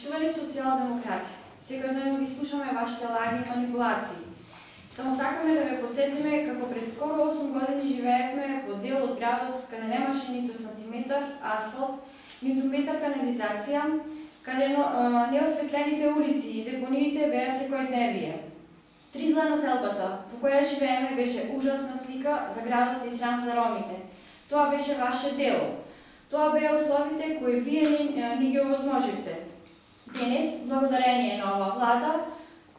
Поштувани социјалдемократи, секојдневно ги слушаме вашите лаги и манипулации. Само сакаме да ве подсетиме како пред скоро 8 години живеевме во дел од градот каде немаше ниту сантиметар асфалт, ниту метар канализација, каде неосветлените улици и депониите беа секојдневие. Тризла населбата во која живееме беше ужасна слика за градот и срам за ромите. Тоа беше ваше дело. Тоа беа условите кои вие ни ги овозможивте. Денес, благодарение на ова влада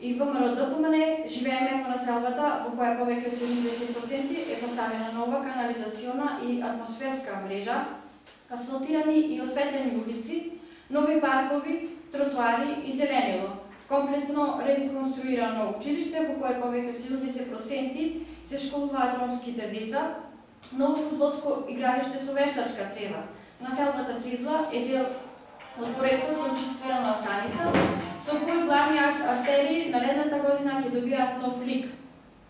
и ВМРО ДПМН, живееме во населбата во која повеќе од 70% е поставена нова канализациона и атмосферска мрежа, асфалтирани и осветлени улици, нови паркови, тротоари и зеленило, комплетно реконструирано училиште во кое повеќе од 70% се школуваат ромските деца, ново фудбалско игралиште со вештачка трева. Населбата Тризла е дел од проектот за очиствителна станица, со кој главни артерии наредната година ќе добијат нов лик.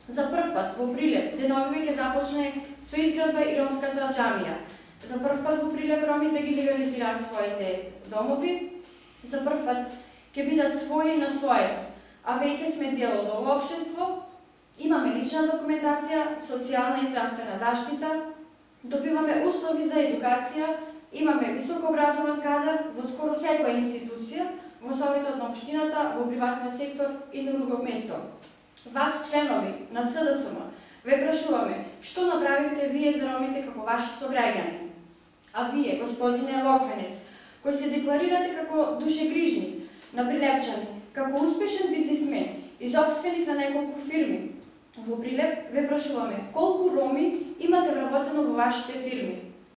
За прв пат во Прилеп деновиве ќе започне со изградба и ромската џамија. За прв пат во Прилеп ромите ги легализираат своите домови. За прв пат ќе бидат своји на своето, а веќе сме дел од ово општество. Имаме лична документација, социјална и здравствена заштита, добиваме услови за едукација, имаме високообразован кадар во скоро секоја институција, во советот на општината, во приватниот сектор и на друго место. Вас, членови на СДСМ, ве прашуваме што направивте вие за ромите како ваши сограѓани. А вие, господине Локвенец, кој се декларирате како душегрижни на прилепчани, како успешен бизнисмен и собственик на неколку фирми во Прилеп, ве прашуваме колку роми имате вработено во вашите фирми.